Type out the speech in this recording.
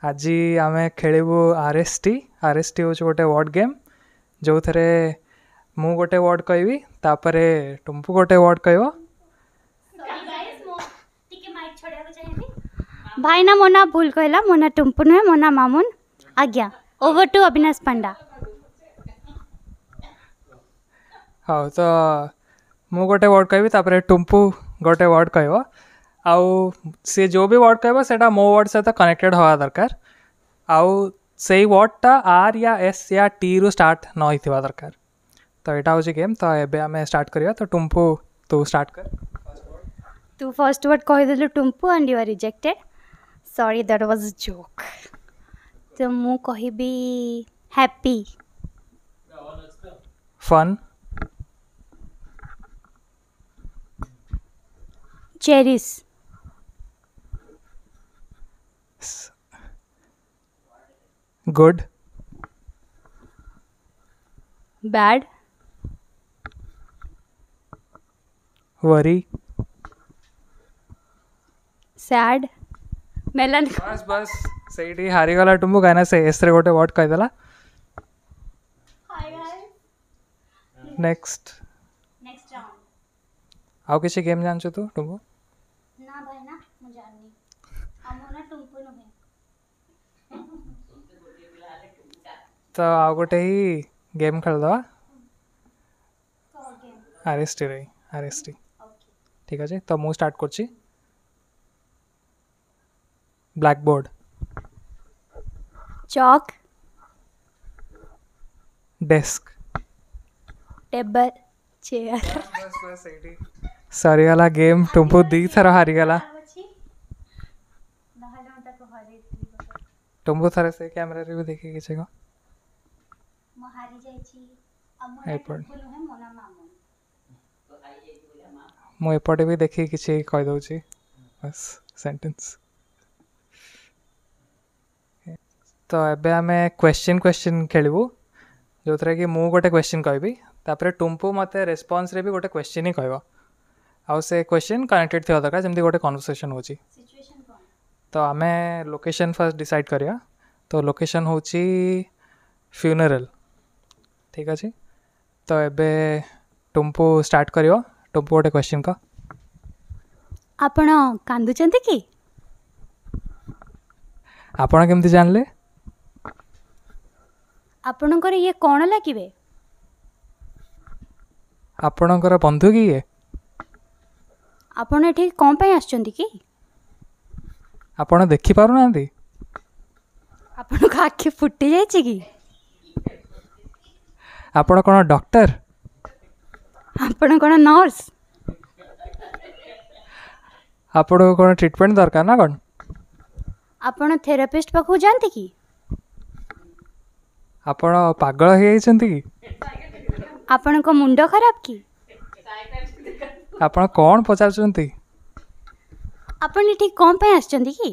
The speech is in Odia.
ଆଜି ଆମେ ଖେଳିବୁ R S T. R S T ହେଉଛି ଗୋଟେ ୱାର୍ଡ଼ ଗେମ୍, ଯେଉଁଥିରେ ମୁଁ ଗୋଟେ ୱାର୍ଡ଼ କହିବି, ତାପରେ ଟୁମ୍ପୁ ଗୋଟେ ୱାର୍ଡ଼ କହିବ। ଭାଇନା, ମୋ ନାଁ ଭୁଲ କହିଲା। ମୋ ନାଁ ଟୁମ୍ପୁ ନୁହେଁ, ମୋ ନାଁ ମାମୁନ। ଆଜ୍ଞା, ଓଭର ଟୁ ଅବିନାଶ ପଣ୍ଡା। ହଉ, ତ ମୁଁ ଗୋଟେ ୱାର୍ଡ଼ କହିବି, ତାପରେ ଟୁମ୍ପୁ ଗୋଟେ ୱାର୍ଡ଼ କହିବ। ଆଉ ସିଏ ଯେଉଁ ବି ୱାର୍ଡ଼ କହିବ, ସେଇଟା ମୋ ୱାର୍ଡ଼ ସହିତ କନେକ୍ଟେଡ଼ ହେବା ଦରକାର। ଆଉ ସେଇ ୱାର୍ଡ଼ଟା ଆର୍ ୟା ଏସ୍ ୟା ଟିରୁ ଷ୍ଟାର୍ଟ ନ ହେଇଥିବା ଦରକାର। ତ ଏଇଟା ହେଉଛି ଗେମ୍। ତ ଏବେ ଆମେ ଷ୍ଟାର୍ଟ କରିବା। ତ ଟୁମ୍ପୁ, ତୁ ଷ୍ଟାର୍ଟ କର। ତୁ ଫର୍ଷ୍ଟ ୱାର୍ଡ଼ କହିଦେଲୁ Tumpu, and you are rejected. Sorry, that was joke. ତ ମୁଁ କହିବି happy. Fun. Cherish. Good. Bad. Worry. Sad, ମେଲାନ। ବାସ୍ ବାସ୍, ସେଇଠି ହାରିଗଲା ଟୁମ୍ପୁ, କାହିଁକିନା ସେ ଏସ୍ରେ ଗୋଟେ ୱାର୍ଡ଼ କହିଦେଲା। ନେକ୍ସଟ। Next round. ଆଉ କିଛି ଗେମ୍ ଜାଣିଛୁ ତୁ ଟୁମ୍ପୁ? ନା ଭାଇନା, ମୁଁ ଜାଣିନି। ଆଉ ମୋ ନାଁ ଟୁମ୍ପୁ ନୁହେଁ। ତ ଆଉ ଗୋଟେ ହିଁ ଗେମ୍ ଖେଳିଦେବା ଆର୍ ଏସ୍ ଟିରେ, ଆର୍ ଏସ୍ ଟି। ଠିକ୍ ଅଛି, ତ ମୁଁ ଷ୍ଟାର୍ଟ କରୁଛି। Black board. Chalk. Desk. Table, chair. ବାସ୍ ବାସ୍, ସେଇଠି ସରିଗଲା ଗେମ୍। ଟୁମ୍ପୁ ଦୁଇଥର ହାରିଗଲା। ନହେଲେ ମୁଁ ତାକୁ ହରେଇଥିଲି। ଟୁମ୍ପୁ, ଥରେ ସେ କ୍ୟାମେରାରେ ବି ଦେଖିକି କିଛି କହ। ମୁଁ ହାରି ଯାଇଛି ଆଉ ମୋ ନାଁ ଏପଟେ। ଟୁମ୍ପୁ ନୁହେଁ, ମୋ ନାଁ ମାମୁନ। ମୁଁ ଏପଟେ ବି ଦେଖିକି କିଛି କହିଦେଉଛି, ବାସ୍ ସେଣ୍ଟେନ୍ସ। ତ ଏବେ ଆମେ କ୍ୱେଶ୍ଚିନ୍ କ୍ୱେଶ୍ଚିନ୍ ଖେଳିବୁ, ଯେଉଁଥିରେ କି ମୁଁ ଗୋଟେ କ୍ୱେଶ୍ଚିନ୍ କହିବି, ତାପରେ ଟୁମ୍ପୁ ମୋତେ ରେସ୍ପନ୍ସରେ ବି ଗୋଟେ କ୍ୱେଶ୍ଚିନ୍ ହିଁ କହିବ। ଆଉ ସେ କ୍ୱେଶ୍ଚିନ୍ କନେକ୍ଟେଡ଼ ଥିବା ଦରକାର, ଯେମିତି ଗୋଟେ କନଭରସେସନ୍ ହେଉଛି। ସିଚୁଏସନ୍ କ'ଣ? ତ ଆମେ ଲୋକେସନ୍ ଫାର୍ଷ୍ଟ ଡିସାଇଡ଼୍ କରିବା। ତ ଲୋକେସନ୍ ହେଉଛି ଫ୍ୟୁନେରାଲ୍। ଠିକ୍ ଅଛି, ତ ଏବେ ଟୁମ୍ପୁ ଷ୍ଟାର୍ଟ କରିବ। ଟୁମ୍ପୁ, ଗୋଟେ କ୍ୱେଶ୍ଚିନ୍ କହ। ଆପଣ କାନ୍ଦୁଛନ୍ତି କି? ଆପଣ କେମିତି ଜାଣିଲେ? ଆପଣଙ୍କର ଇଏ କ'ଣ ଲାଗିବେ? ଆପଣଙ୍କର ବନ୍ଧୁ କି ଇଏ? ଆପଣ ଏଠିକି କ'ଣ ପାଇଁ ଆସିଛନ୍ତି କି? ଆପଣ ଦେଖିପାରୁନାହାନ୍ତି? ଆପଣଙ୍କ ଆଖି ଫୁଟି ଯାଇଛି କି? ଆପଣ କ'ଣ ଡକ୍ଟର? ଆପଣ କ'ଣ ନର୍ସ? ଆପଣଙ୍କୁ କ'ଣ ଟ୍ରିଟମେଣ୍ଟ ଦରକାର ନା କ'ଣ? ଆପଣ ଥେରାପିଷ୍ଟ ପାଖକୁ ଯାଆନ୍ତି କି? ଆପଣ ପାଗଳ ହେଇଯାଇଛନ୍ତି କି? ଆପଣଙ୍କ ମୁଣ୍ଡ ଖରାପ କି? ଆପଣ କ'ଣ ପଚାରୁଛନ୍ତି? ଆପଣ ଏଠିକି କ'ଣ ପାଇଁ ଆସିଛନ୍ତି କି?